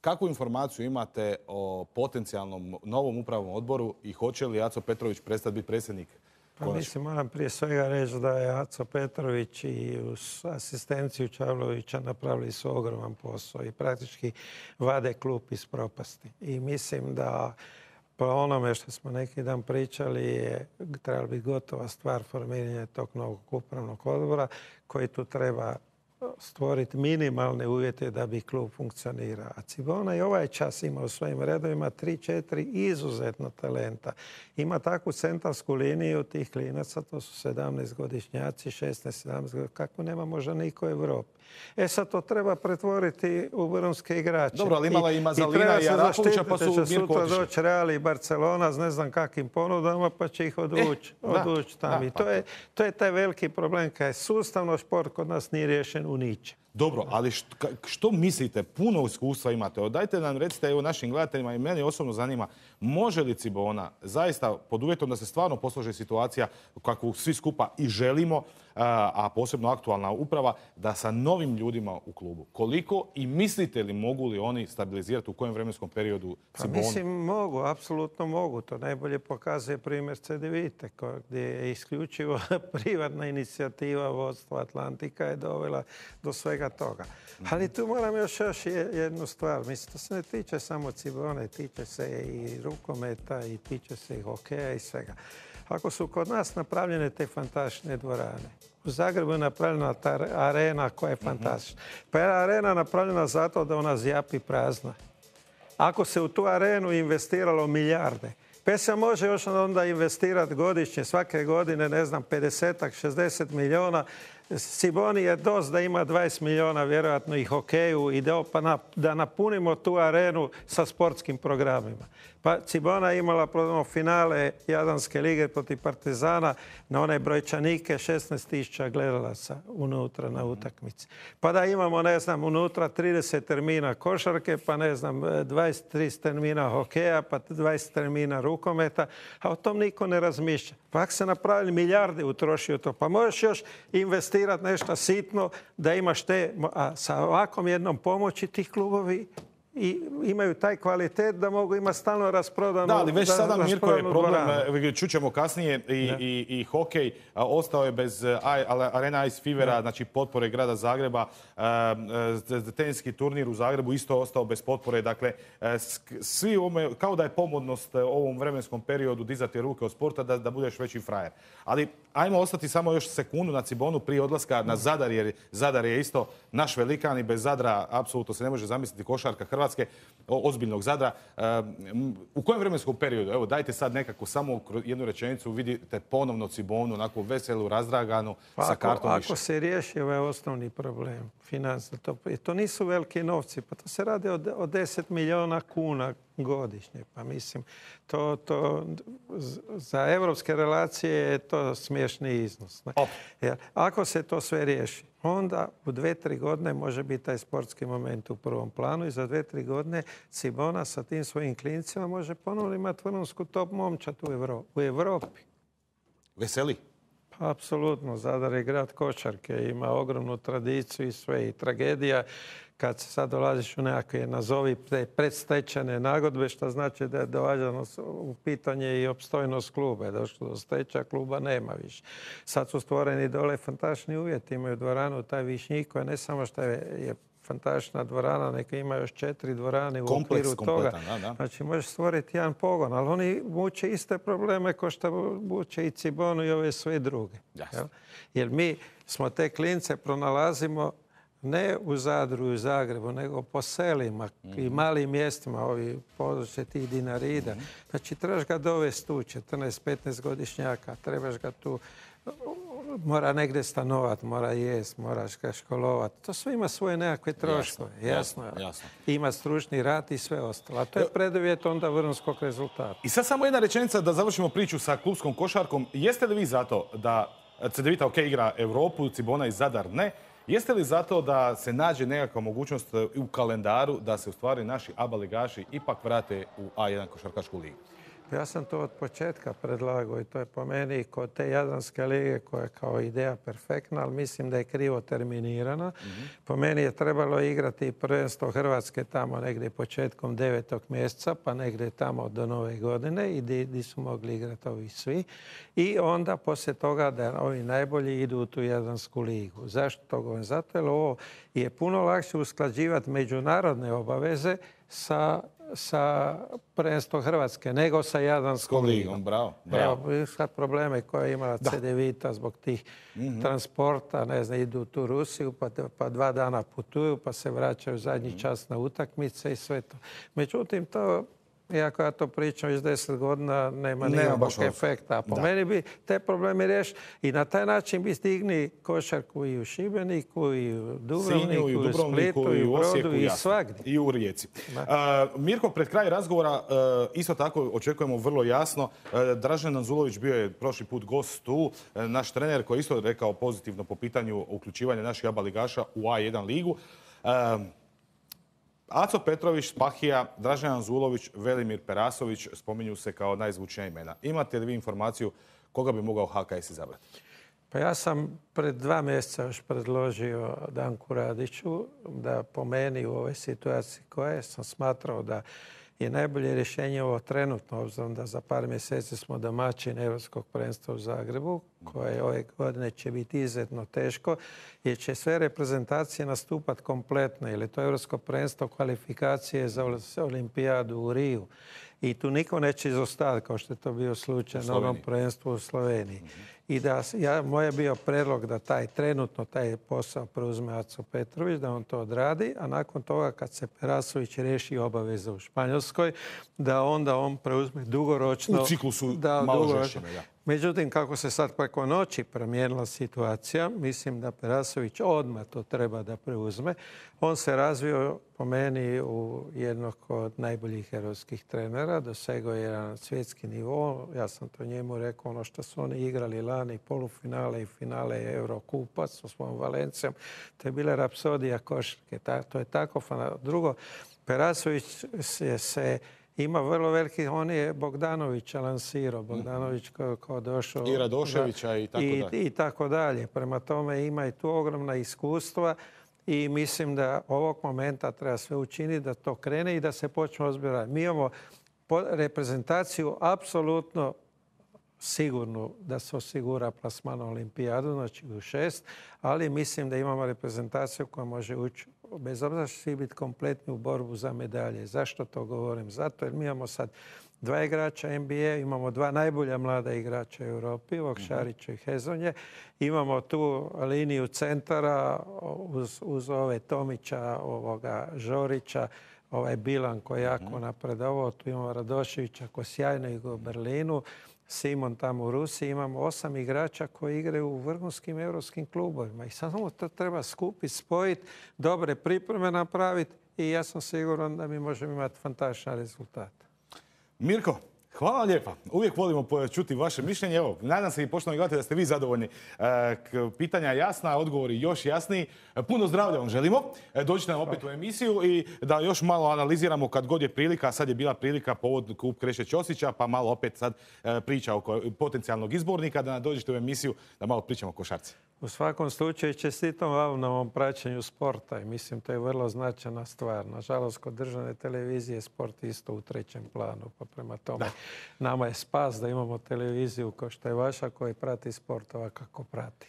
Kakvu informaciju imate o potencijalnom novom upravnom odboru i hoće li Aco Petrović prestati biti predsjednik? Pa mislim, moram prije svega reći da je Aco Petrović i uz asistenciju Čavlovića napravili su ogroman posao i praktički vade klub iz propasti. I mislim da po onome što smo neki dan pričali je trebala biti gotova stvar formiranja tog novog upravnog odbora koji tu treba stvoriti minimalne uvjete da bi klub funkcionirao. A Cibona i ovaj čas ima u svojim redovima 3-4 izuzetno talenta. Ima takvu centarsku liniju tih klinaca, to su 17-godišnjaci, 16-17 godina, kako nema možda niko u Evropi. Sad to treba pretvoriti u vrhunske igrače. Dobro, ali imala i Mazalina i Arapovića, pa su Mirko otišli. Sutra doći Real i Barcelona s ne znam kakvim ponudama, pa će ih odvući tamo. To je taj veliki problem, kad je sustavno šport kod nas nije riješen u ničem. Dobro, ali što mislite? Puno iskustva imate. Dajte nam, recite evo našim gledateljima i meni osobno zanima, može li Cibona zaista, pod uvjetom da se stvarno posloži situacija kakvu svi skupa i želimo, a posebno aktualna uprava, da sa novim ljudima u klubu. Koliko i mislite li mogu li oni stabilizirati u kojem vremenskom periodu Cibonu? Pa mislim mogu, apsolutno mogu. To najbolje pokazuje primjer Cedevite, gdje je isključivo privatna inicijativa vodstva Atlantika je dovela do svega toga. Ali tu moram još jednu stvar. Mislim, to se ne tiče samo Cibone, tiče se i rukometa, i tiče se i hokeja i svega. Ako su kod nas napravljene te fantastične dvorane, u Zagrebu je napravljena ta arena koja je fantastična. Pa je arena napravljena zato da ona zjapi prazna. Ako se u tu arenu investiralo milijarde, pa se može još onda investirati godišnje, svake godine, ne znam, 50-ak, 60 milijuna. Ciboni je dosta da ima 20 milijuna vjerojatno i hokeju i da napunimo tu arenu sa sportskim programima. Pa Cibona je imala finale Jadranske lige protiv Partizana na one brojčanike 16.000 gledalaca unutra na utakmici. Pa da imamo, ne znam, unutra 30 termina košarke, pa ne znam, 23 termina hokeja, pa 20 termina rukometa, a o tom niko ne razmišlja. Pa ako se napravili milijarde utrošio to, pa možeš još investirati nešto sitno da imaš te, a sa ovakvom jednom pomoći tih klubovi i imaju taj kvalitet da mogu imati stalno rasprodanu. Da, ali već sada Mirko je problem, čućemo kasnije i hokej, ostao je bez Arena Ice Fevera, znači potpore grada Zagreba, teniski turnir u Zagrebu isto ostao bez potpore, dakle svi kao da je pomodnost ovom vremenskom periodu dizati ruke od sporta da budeš veći frajer. Ali ajmo ostati samo još sekundu na Cibonu prije odlaska na Zadar, jer Zadar je isto naš velikan i bez Zadra apsolutno se ne može zamisliti košarka Hrvatske, ozbiljnog Zadra. U kojem vremenskom periodu, evo dajte sad nekako samo jednu rečenicu, vidite ponovno Cibonu, onako veselu, razdraganu, sa kartom više. Ako se riješi ovaj osnovni problem, financija, to nisu veliki novci, pa to se radi o 10 milijuna kuna godišnje. Pa mislim, za evropske relacije je to smiješni iznos. Jer ako se to sve riješi, onda u 2-3 godine može biti taj sportski moment u prvom planu i za 2-3 godine Cibona sa tim svojim klincima može ponovno imati vrhunsku top momčad u Evropi. Veseli? Pa, apsolutno. Zadar je grad košarke, ima ogromnu tradiciju i sve. I tragedija kad se sad dolaziš u nekakve, nazovi, predstečajne nagodbe, što znači da je dovađano u pitanje i opstojnost kluba. Je došlo do stečaja, kluba nema više. Sad su stvoreni dole fantastični uvjeti. Imaju dvoranu, taj Višnjik, koja ne samo što je fantastična dvorana, neka ima još 4 dvorane u okviru toga. Znači, možeš stvoriti jedan pogon, ali oni muče iste probleme kao što muče i Cibonu i ove sve druge. Jer mi smo te klince pronalazimo ne u Zadru i u Zagrebu, nego po selima i malim mjestima, ovi područje tih Dinarida. Znači, trebaš ga dovesti tu, 14-15 godišnjaka, trebaš ga tu, mora negdje stanovati, mora jest, moraš ga školovati. To sve ima svoje nekakve troškove, jasno. Ima stručni rad i sve ostalo. A to je preduvjet onda vrhunskog rezultata. I sad samo jedna rečenica da završimo priču sa klubskom košarkom. Jeste li vi zato da Cedevita igra Europu, Cibona i Zadar ne? Jeste li zato da se nađe nekakva mogućnost u kalendaru da se u stvari naši ABA ligaši ipak vrate u A1 košarkašku ligu? Ja sam to od početka predlagao i to je po meni kod te Jadranske lige koja je kao ideja perfektna, ali mislim da je krivo terminirana. Po meni je trebalo igrati prvenstvo Hrvatske tamo negdje početkom 9. mjeseca, pa negdje tamo do Nove godine i gdje su mogli igrati ovi svi. I onda poslije toga da ovi najbolji idu u tu Jadransku ligu. Zašto to govorim? Zato jer ovo je puno lakše usklađivati međunarodne obaveze sa prvenstvom Hrvatske nego sa Jadranskom ligom. Bravo. Evo, sad probleme koje ima CDVita zbog tih transporta, ne znam, idu u tu Rusiju, pa 2 dana putuju, pa se vraćaju zadnji čas na utakmice i sve to. Međutim, to, iako ja to pričam već 10 godina, nema nikakvog efekta. A po meni bi te probleme riješiti i na taj način bi stigni košarku i u Šibeniku, i u Dubrovniku, i u Splitu, i u Brodu, i svagdje. I u Rijeci. Mirko, pred kraj razgovora isto tako očekujemo vrlo jasno. Dražen Anzulović bio je prošli put gost tu, naš trener koji je isto rekao pozitivno po pitanju uključivanja naših ABA ligaša u A1 ligu. Aco Petrović, Spahija, Dražen Anzulović, Velimir Perasović spominju se kao najzvučnija imena. Imate li vi informaciju koga bi mogao HKS izabrati? Pa ja sam pred 2 mjeseca još predložio Danku Radiću da po meni u ovoj situaciji koje sam smatrao da je najbolje rješenje ovo trenutno, obzirom da za par mjeseci smo domaćini Europskog prvenstva u Zagrebu, koje ove godine će biti izuzetno teško, jer će sve reprezentacije nastupati kompletno, jer je to Europsko prvenstvo kvalifikacije za olimpijadu u Riju. I tu niko neće izostati, kao što je to bio slučaj na onom prvenstvu u Sloveniji. I da moj je bio predlog da trenutno taj posao preuzme Aco Petrović, da on to odradi, a nakon toga kad se Perasović riješi obaveze u Španjolskoj, da onda on preuzme dugoročno... U ciklusu malo žešćeme, da. Međutim, kako se sad preko noći promijenila situacija, mislim da Perasović odmah to treba da preuzme. On se razvio po meni u jednog od najboljih europskih trenera, dosegao je jedan svjetski nivo. Ja sam to njemu rekao, ono što su oni igrali lani, polufinale i finale Eurokupa sa svojom Valencijom, to je bila rapsodija košarke. To je tako fantastično. Drugo, Perasović se ima vrlo veliki, on je Bogdanovića lansirao, Bogdanović kao došao... I Radoševića i tako dalje. I tako dalje. Prema tome ima i tu ogromna iskustva i mislim da ovog momenta treba sve učiniti da to krene i da se počne ozbiljati. Mi imamo reprezentaciju apsolutno sigurno da se osigura plasman na olimpijadu, znači u 6, ali mislim da imamo reprezentaciju koja može ući, bez obzira što svi biti kompletni u borbu za medalje. Zašto to govorim? Zato jer mi imamo sad 2 igrača NBA, imamo 2 najbolja mlada igrača u Europi, Šarića i Hezonje. Imamo tu liniju centara uz ove Tomića, Žorića, ovaj Bilan koji je jako napredovao. Tu imamo Radoševića koji sjajno igra u Berlinu. Simon tamo u Rusiji. Imamo 8 igrača koji igraju u vrhunskim europskim klubovima. I samo to treba skupiti, spojiti, dobre pripreme napraviti i ja sam siguran da mi možemo imati fantastičan rezultat. Mirko, hvala lijepa. Uvijek volimo čuti vaše mišljenje. Evo, nadam se i poštovani gledatelji da ste vi zadovoljni. Pitanja jasna, odgovori još jasniji. Puno zdravlja vam želimo. Dođite nam opet u emisiju i da još malo analiziramo kad god je prilika. Sad je bila prilika povod kup Kreše Ćosića, pa malo opet sad priča oko potencijalnog izbornika, da dođete u emisiju da malo pričamo o košarci. U svakom slučaju čestitam vam na ovom praćenju sporta i mislim to je vrlo značajna stvar. Nažalost, kod državne televizije sport isto u 3. planu, pa prema tome nama je spas da imamo televiziju kao što je vaša koji prati sport ovako kako prati.